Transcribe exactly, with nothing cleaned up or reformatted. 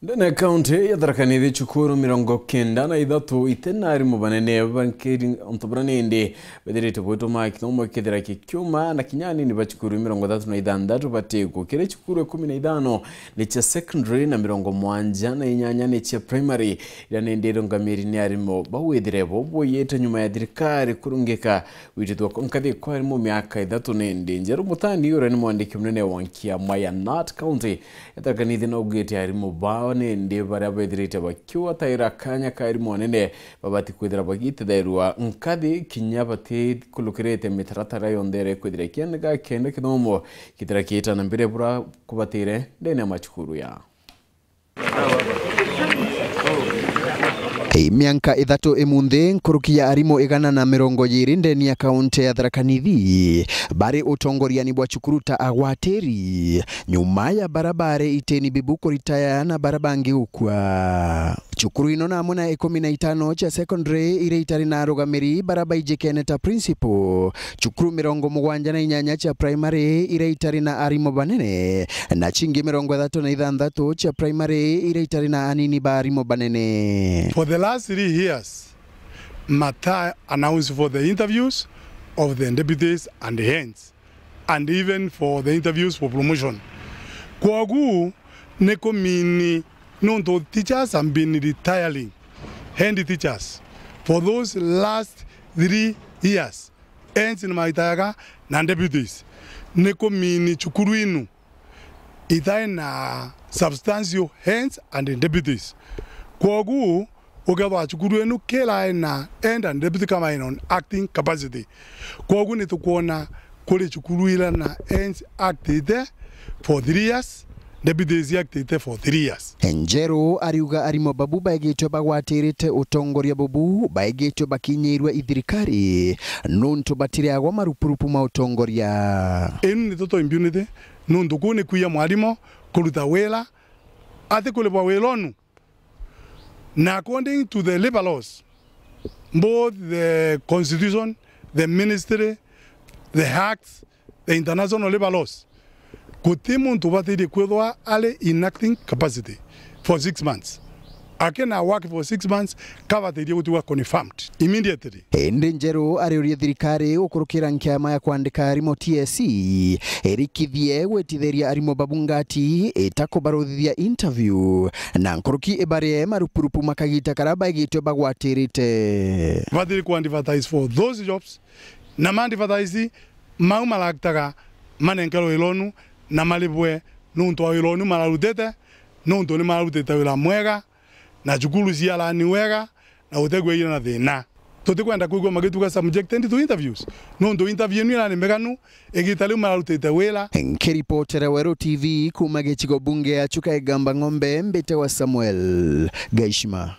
Ndene ya kaunti ya Tharaka Nithi, cukuru mirongo kenda na ithatu iti na arimu banene ba nkiri, untu buria nindi bethirite bwituma kithomo kithira kikiuma, na kinya anini ba cukuru mirongo ithatu na ithanthatu batikwo. Kiri cukuru ikumi na ithano ni cia secondary na mirongo mwanja na inyanya ni cia primary, iria nindi irungamiri ni arimu bawithire bo buyite nyuma ya thirikari kurungika gwitithua kwa nkathi kwa arimu miaka ithatu nindi. Njeru Mutani, uria ni mwandiki munene wa nkiama ya Nat County, Ethakanithi naugite arimu bao nindi baria bethirite bakiwataira kanya ka arimu anene babati kwithira bagitetherua nkathi kinya batikulukirite mitaratara yonthe iria ikwithira ikiendeka kenda kithomo kithira kiita na mbere bura kubatire ndene ya macukuru ya. Ii mianka ithatu imunthi, nkuruki ya arimu igana na mirongo iiri ndeni ya kaunti ya Tharaka Nithi bari utongoriani bwa cukuru ta agwatiri. Nyuma ya bara bari iteni bibu kuritaya na bara bangi gukua. Cukuru ino na amwe na ikumi na itano cia secondary iria itari na arugamiri bara baijikene ta principal, cukuru mirongo mugwanja na inyanya cia primary iria itari na arimu banene, na cingi mirongo ithatu na ithanthatu cia primary iria itari na anini ba arimu banene. For the last three years, Mata announced for the interviews of the deputies and heads, and even for the interviews for promotion. Kwogu ni kumini nuntu teachers have been retiring, head teachers, for those last three years, heads ni maitayaga na deputies. Ni kumini cukuru inu itai na substantial heads and deputies. Kwogu, ukethwa cukuru inu kila ina head and deputy kama in on acting capacity. Kwogu nitukwona kuri cukuru ila na heads actite for three years, deputies actite for three years. Njeru ariuga arimu babu baigitwe bagwatirite utongoria bubu baigitwe bakinyirwe i thirikari nuntu batiriagwa marupurupu ma utongoria. Inu ni tuto impunity, nuntu kuu ni kwia mwarimu kuruta wira atikuribwa wira unu. Na according to the labour laws, both the constitution, the ministry, the acts, the international labour laws, guti muntu ubatirie kwithwa ari in acting capacity for six months. Akina work for six months, kabatirie gutigwa confirmed immediately. Indi Njeru ariurie thirikari gukurukira nkiama ya kwandika arimu T S C irikithie gwitithiria arimu babu ngati itakubaruthithia interview, na nkuruki ibarie marupurupu ma kagita karia baigitwe bagwatirite. Batiri ku advertise for those jobs, na ma advertise mau maragitaga manenkerwe wira unu na maribwe nuntu wa wira unu mararutite, nuntu ni mararutite wira mwega, na cukuru ciarani wega, na gutegwa ira na thina. Tutikwenda kwigua magituga subjected to interviews, nuntu interview inu irani meganu, igita riu mararutite wira. Nkiripotera Weru T V kuma gicigo bunge ya Chuka Igamba Ng'ombe, mbite wa Samuel Gaishima.